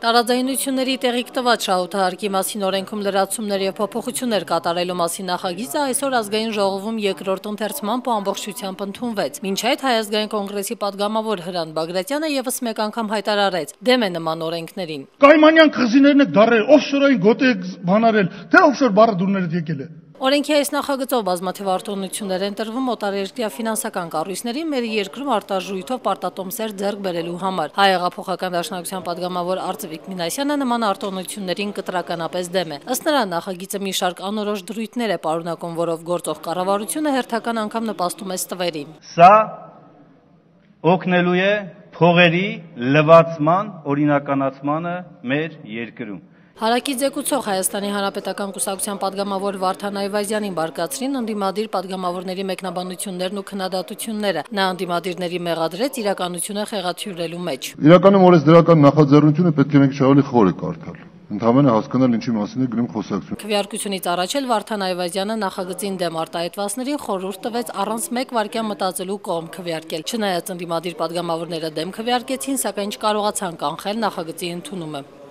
Տարաձայնությունների տեղիք տված շահութահարկի մասին օրենքում լրացումներ եւ փոփոխություններ կատարելու մասին նախագիծը այսօր ազգային ժողովում երկրորդ ընթերցմամբ ու ամբողջությամբ ընդունվեց։ Մինչ այդ Հայ ազգային կոնգրեսի падգամավոր Հրանտ Բագրատյանը եւս մեկ անգամ հայտարարեց դեմ է նման օրենքներին։ Կայմանյան խզիներն եք դարել, օֆշորային գոտի եք բանարել, թե օֆշոր բառը դուրներդ եկել է։ Օրենքի այս նախագծով բազմաթիվ արտոնություններ են տրվում օտարերկրյա ֆինանսական կառույցների մեր երկրում արտարժույթով պարտատոմսեր ձեռք բերելու համար։ Հայ հեղափոխական դաշնակցության падգամավոր Արծվիկ Մինասյանը նման արտոնություններին կտրականապես դեմ է։ Ըստ նրա նախագիծը մի շարք անորոշ դրույթներ է պարունակում, որով գործող կառավարությունը հերթական անգամ նպաստում է ստվերին։ Սա օգնելու է փողերի լվացման օրինականացմանը մեր երկրում։ Հարակից զեկուցող Հայաստանի Հանրապետական կուսակցության падգամավոր Վարդան Այվազյանին բարկացրին ընդդիմադիր падգամավորների մեկնաբանություններն ու քննադատությունները։ Նա ընդդիմադիրների մեղադրեց իրականությունը խեղաթյուրելու մեջ։ Իրականում օրես դրական նախաձեռնությունը պետք է մենք շահալի խոր է կարդալ։ Ընդհանրապես հասկանալ ինչի մասին է գնում խոսակցությունը։ Քվեարկությունից առաջ էլ Վարդան Այվազյանը նախագծին դեմ արտահայտվածներին խորհուրդ տվեց առանց մեկ վայրկյան մտածելու կողմ քվեարկել։ Չնայած ընդդիմադիր падգամավորները դեմ քվեարկեցին, սակայն չկարողացան կանխել նախագծի ընդունումը։